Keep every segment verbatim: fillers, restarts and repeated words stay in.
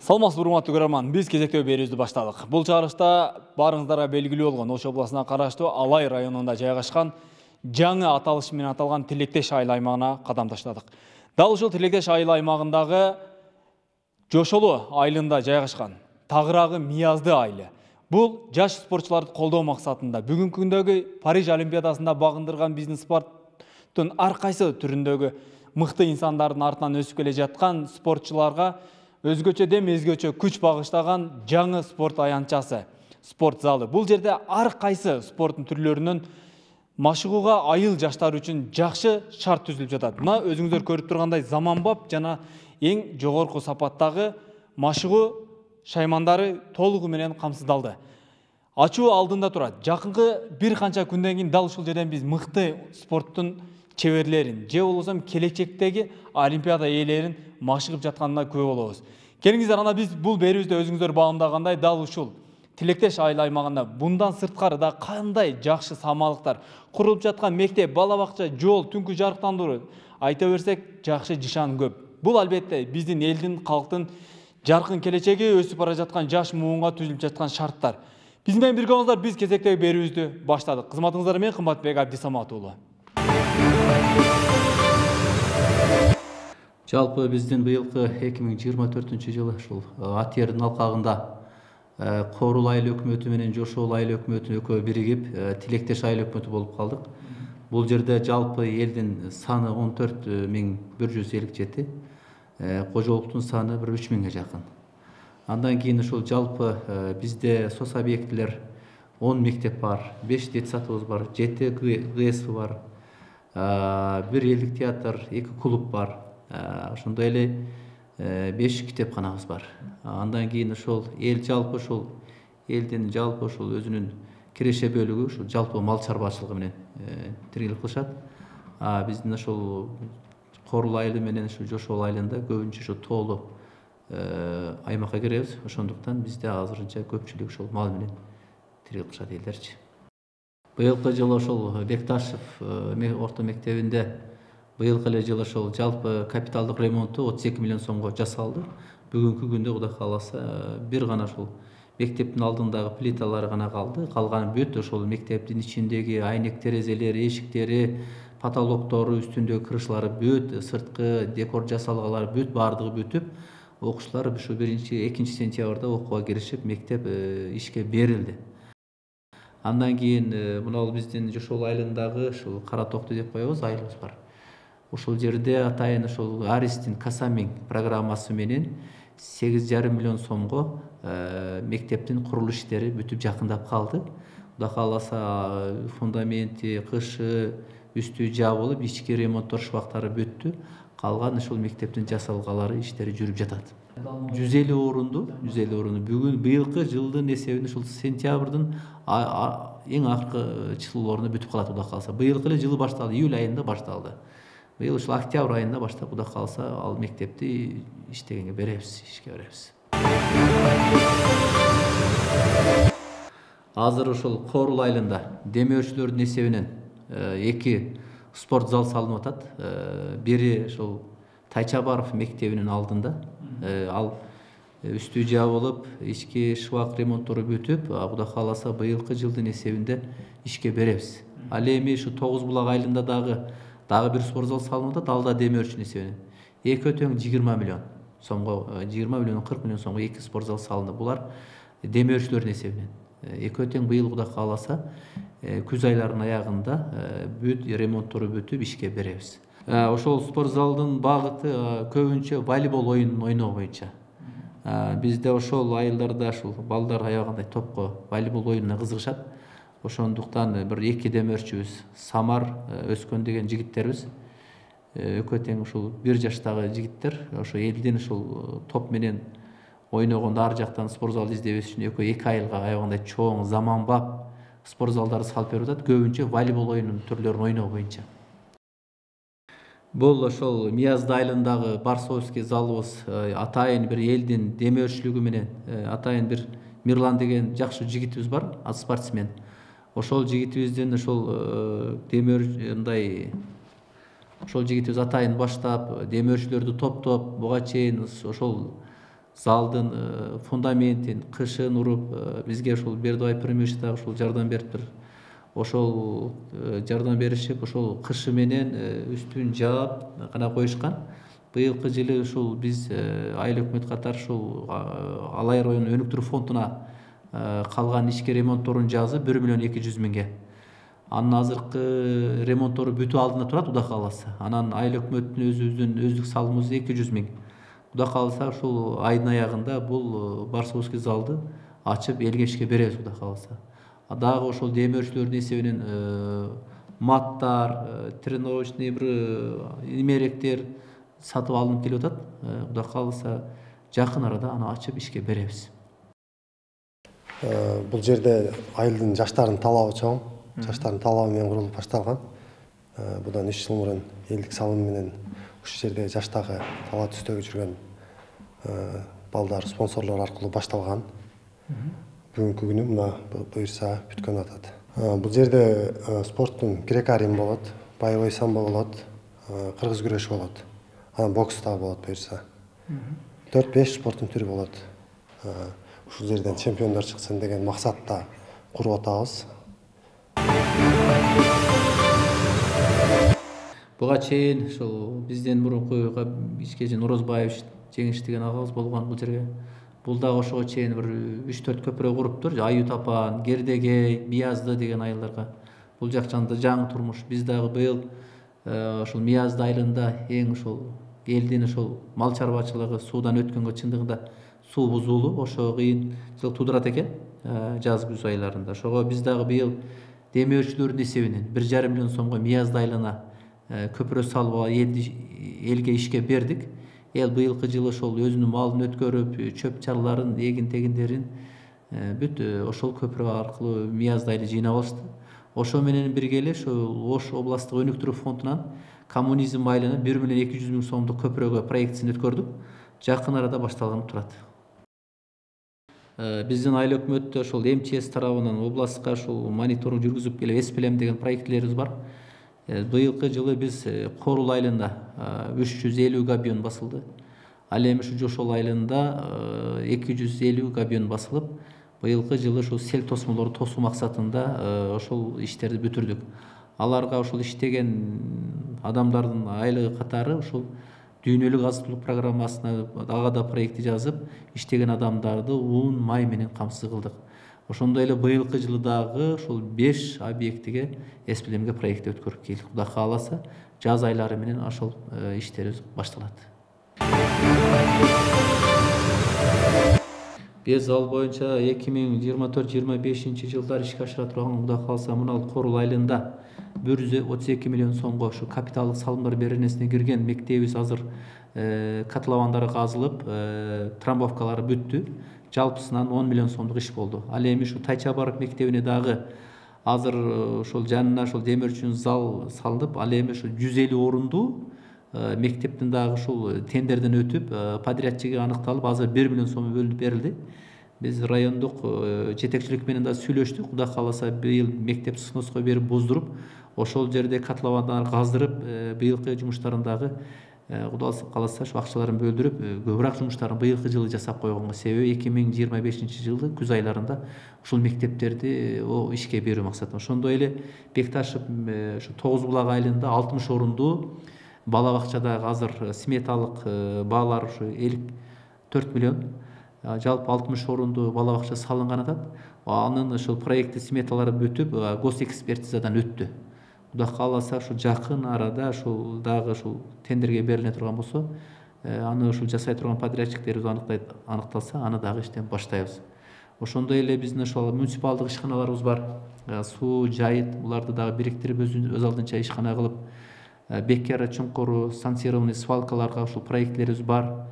Саламатсызбы, урматтуу көрөрман. Биз кезектөө берүүбүздү баштадык. Бул чыгарышта барыңыздарга белгилүү болгон Ош областына караштуу Алай районунда жайгашкан жаңы аталыш менен аталган Тилектеш айыл аймагына кадам таштадык. Дал ушул Тилектеш айыл аймагындагы Жошолу айылында жайгашкан Тагырагы Миязды айылы. Бул жаш спортчуларды колдоо максатында бүгүнкү күндөгү Париж олимпиадасында багындырган биздин спорттун ар кайсы түрүндөгү мыкты инсандардын артынан өсүп келе жаткан спортчуларга өзгөчө дем өзгөчө күч багыштаган жаңы спорт аянтчасы, спорт залы. Бул жерде ар кайсы спорттун түрлөрүнөн машыгууга айыл жаштары үчүн жакшы шарт түзүлүп жатат. Мына өзүңүздөр көрүп тургандай заманбап жана эң жогорку сапаттагы машыгуу шаймандары толугу менен камсыздалды. Ачуу алдында турат. Жакынкы бир канча күндөн кийин дал ушул жерден биз мыкты спорттун чеберлерин, же болбосо келечектеги олимпиада ээлерин машыгып жатканына күбө болобуз. Келиңиздер, ана биз бул берүүбүздө өзүңүздөр баамдагандай дал ушул Тилектеш айыл аймагында bundan сырткары да кандай жакшы самалыктар курулуп жаткан мектеп, бала бакча, жол, түнкү жарыктандыруу айта берсек жакшы жишан көп. Бул албетте биздин элдин, калктын жаркын келечеги, өсүп бара жаткан жаш муунга түзүлүп жаткан шарттар. Биз менен бирге болуңуздар, биз кезектеги берүүбүздү баштадык. Кызматыңыздар менен Кымбатбек Абдисамат уулу. Жалпы биздин быйылкы эки миң жыйырма төртүнчү жылы ушул Атьердин алкагында Корул айыл өкмөтү менен Жошол айыл өкмөтү экөө биригип Тилектеш айыл өкмөтү болуп калдык. Бул жерде жалпы элдин саны он төрт миң бир жүз элүү жети, кожолуктун саны бир үч миңге жакын. Андан кийин ушул жалпы бизде сос объектилер он мектеп бар, беш детсадыбыз бар, жети ГС бар, бир элдик театр, эки клуб бар. Ошондой эле беш китепканабыз бар. Андан кийин ошол эл жалпы ушул элдин жалпы ушул өзүнүн киреше бөлүгү ушул жалпы мал чарбачылыгы менен тиркелип кылышат. Биздин ошол Корул айылы менен ушул Жошол айылында көбүнчө ушул тоолуу аймакка киребиз. Ошондуктан бизде азырынча көпчүлүк ушул мал менен тиркелип кылышат элдерчи. Быйылкы жылы ошол Бекташев орто мектебинде быйылкы эле жылы ошол жалпы капиталдык ремонту отуз эки миллион сомго жасалды. Бүгүнкү күндө Кудай кааласа бир гана ошол мектептин алдындагы плиталары гана калды. Калган бүт ошол мектептин ичиндеги айнек терезелери, эшиктери, потолоктору, үстүндөгү крышлары бүт, сырткы декор жасалгалары бүт баардыгы бүтүп, окуучулар ушу биринчи экинчи сентябрда окууга киришип, мектеп ишке берилди. Андан кийин мына биздин Жошол айылындагы ушул Кара Токту деп коебуз, айылыбыз бар. Ушул жерде атайын ушул Аристин Касамин программасы менен сегиз жарым миллион сомго мектептин курулуш иштери бүтүп жакындап калды. Кудай кааласа фундаменти, кышы, үстү жабылып, ички ремонттор шубактары бүттү. Калган ушул мектептин жасалгалары иштери жүрүп жатат. жүз элүү орунду, жүз элүү орунду бүгүн быйылкы жылдын эсебинде ушул сентябрдын эң акыркы числолоруна бүтүп калат Кудай кааласа. Быйылкы эле жылы башталды, июль айында башталды. Быйыл ушул октябрь айында баштап Кудай кааласа ал мектепти иштегенге беребиз, ишке беребиз. Азыр ушул Корул айылында демөөрчүлөрдүн эсебинен эки спорт зал салынып атат. Бири ушул Тайчабаров мектебинин алдында. Ал үстү жабылып, ички шыбак ремонттору бүтүп, Кудай кааласа быйылкы жылдын эсебинде ишке беребиз. Ал эми ушу Тогуз булак айылында дагы дагы бир спорт зал салынып атат, ал да демөөрчүнүн эсебинен. Экөө тең жыйырма миллион сомго, жыйырма миллион кырк миллион сомго эки спорт зал салынды. Булар демөөрчүлөрдүн эсебинен. Экөө тең быйыл Кудай кааласа күз айларынын аягында бүт ремонттору бүтүп ишке беребиз. Ошол спорт залдын багыты көбүнчө волейбол оюнун ойноо боюнча. Бизде ошол айылдарда ушул балдар аябагандай топко волейбол оюнуна кызыгышат. Ошондуктан бир эки демөөрчүбүз, Самар, Өскөн деген жигиттербиз. Экөө тең ушул бир жаштагы жигиттер, ошо элдин ушул топ менен ойногондо ар жактан спорт зал издебес үчүн экөө эки айылга аябагандай чоң, заманбап спорт залдарды салып берип атат, көбүнчө волейбол оюнунун түрлөрүн ойноо боюнча. Бул ошол Миязды айылындагы Барсовский залыбыз атайын бир элдин демөөрчүлүгү менен атайын бир Мирлан деген жакшы жигитибиз бар, спортсмен. Ошол жигитибиздин ошол демөөрчүндай ошол жигитибиз атайын баштап, демөөрчүлөрдү топтоп, буга чейин ошол залдын фундаментин, кышын уруп бизге ушул Бердыбай Премьевич дагы ушул жардам бериптир. Ошол жардам беришип, ошол кышы менен үстүн жаап гана коюшкан. Быйылкы жылы ушул биз айыл өкмөт катары ушул Алай районунун өнүктүрүү фондуна калган ишке ремонтторун жазып бир миллион эки жүз миңге. Анын азыркы ремонттору бүтүү алдында турат, Кудай кааласа. Анан айыл өкмөттүн өзүбүздүн өздүк салымыбыз эки жүз миң. Кудай кааласа ушул айдын аягында бул Барсовский залды ачып элге ишке беребиз, Кудай кааласа. Дагы ошол демир өрчүлөрдүн эсебинен маттар, тренировочный бир имеректер сатып алынып келип атат. Кудай кааласа жакын арада аны ачып ишке беребиз. Бул жерде айылдын жаштардын талабы чоң. Жаштардын талабы менен курулуп башталган. Будан үч жыл мурун элдик салым менен ушул жерде жаштагы талап түстөгө жүргөн балдар спонсорлор аркылуу башталган. Бүгүнкү күнү мына буюрса бүткөн атат. Бул жерде спорттун грек-рим болот, боевой самбо болот, кыргыз күрөшү болот. Анан бокс дагы болот буюрса. төрт беш спорттун түрү болот. Ушул жерден чемпиондор чыксын деген максатта куруп атабыз. Буга чейин ушул бизден мурунку Ишкежи Нурозбаевич жеңиш деген агабыз болгон бул жерге. Бул дагы ошого чейин бир үч төрт көпүрө куруптур. Аю Тапан, Гердегей, Биязды деген айылдарга. Бул жак жанда жаңы турмуш. Биз дагы быйыл ошол Биязды айылында эң ошол элдин ошол мал чарбачылыгы суудан өткөнгө чындыгында суу бузулуу, ошо кыйынчылык туудурат экен жаз күз айларында. Ошого биз дагы быйыл демир өрчүлөрдүн эсебинен бир жарым миллион сомго Биязды айылына көпүрө салып элге ишке бердик. Эл быйылкы жылы ошол өзүнүн малын өткөрүп, чөп чарларын, эгин тегиндерин бүт ошол көпүрө аркылуу Биязды айылы жыйнап алышты. Ошо менен бирге эле ошол Ош областтык өнүктүрүү фондунан коммунизм айылына бир миллион эки жүз миң сомдук көпүрөгө проектисин өткөрдүк. Жакын арада башталганы турат. Биздин айыл өкмөттө ошол эм че эс тарабынан областка ошол мониторинг жүргүзүп келип эспелем деген проектилерибиз бар. Быйылкы жылы биз Корул айылында үч жүз элүү габион басылды. Ал эми ушу Жошол айылында эки жүз элүү габион басылып, быйылкы жылы ушул сел тосмолорду тосуу максатында ошол иштерди бүтүрдүк. Аларга ошол иштеген адамдардын айлыгы катары ошол дүйнөлүк азык түлүк программасына ага да проекти жазып, иштеген адамдарды уун, май менен камсыз кылдык. Ошондой эле быйылкы жылы дагы ошол беш объектиге эспелемге проекти өткөрүп келдик. Кудай кааласа, жаз айлары менен ошол иштерибиз башталат. Биз ал боюнча эки миң жыйырма төрт жыйырма бешинчи жылдар ишке ашыра турган, Кудай кааласа, мына Корул айылында бир жүз отуз эки миллион сомго ушу капиталдык салымдар беренесине кирген мектебибиз азыр котловандары казылып, трамбовкалары бүттү. Жалпысынан он миллион сомдук иш болду. Ал эми ушу Тайчабаров мектебине дагы азыр ошол жанына ошол демир өрчүн зал салынып, ал эми ушу жүз элүү орундуу мектептин дагы ушул тендерден өтүп, подрядчиги аныкталып, азыр бир миллион сом бөлүнүп берилди. Биз райондук жетекчилик менен да сүйлөштүк. Кудай кааласа, быйыл мектеп сноска берип буздуруп, ошол жерде котловандарды каздырып, быйылкы жумуштарын дагы Кудай кааласа ушу акчаларын бөлдүрүп, көбүрөөк жумуштарын быйылкы жылы жасап койгонго. Себеби эки миң жыйырма бешинчи жылы күз айларында ушул мектептерди ишке берүү максатында. Ошондой эле Бекташев ушу Тогуз булак айылында алтымыш орундуу бала бакчада азыр сметалык баалар ушу элүү төрт миллион, жалпы алтымыш орундуу бала бакча салынган атат. Анын ошол проекти сметалары бүтүп, госэкспертизадан өттү. Кудай кааласа, ушу жакын арада ушул дагы ушул тендерге бериле турган болсо, аны ушул жасай турган подрядчиктерибиз аныкталса, аны дагы иштен баштайбыз. Ошондой эле биздин ошол муниципалдык ишканаларыбыз бар. Суу, жайыт, буларды дагы бириктирип өз алдынча ишкана кылып, Беккера чуңкуру, санкцированный свалкаларга ушул проектлерибиз бар.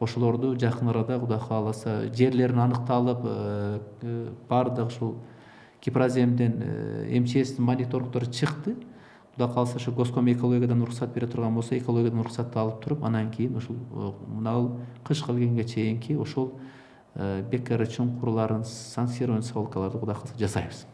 Ошолорду жакын арада Кудай кааласа жерлерин аныкталып, бардык ушул Кипраземден эм че эстин мониторингдору чыкты. Кудай кааласа, ошо Госком экологиядан уруксат бере турган болсо, экологиядан уруксатты алып туруп, анан кийин ушул мына кышка келгенге чейинки ошол Беккера чуңкурларын, санкцированный свалкаларды Кудай кааласа жасайбыз.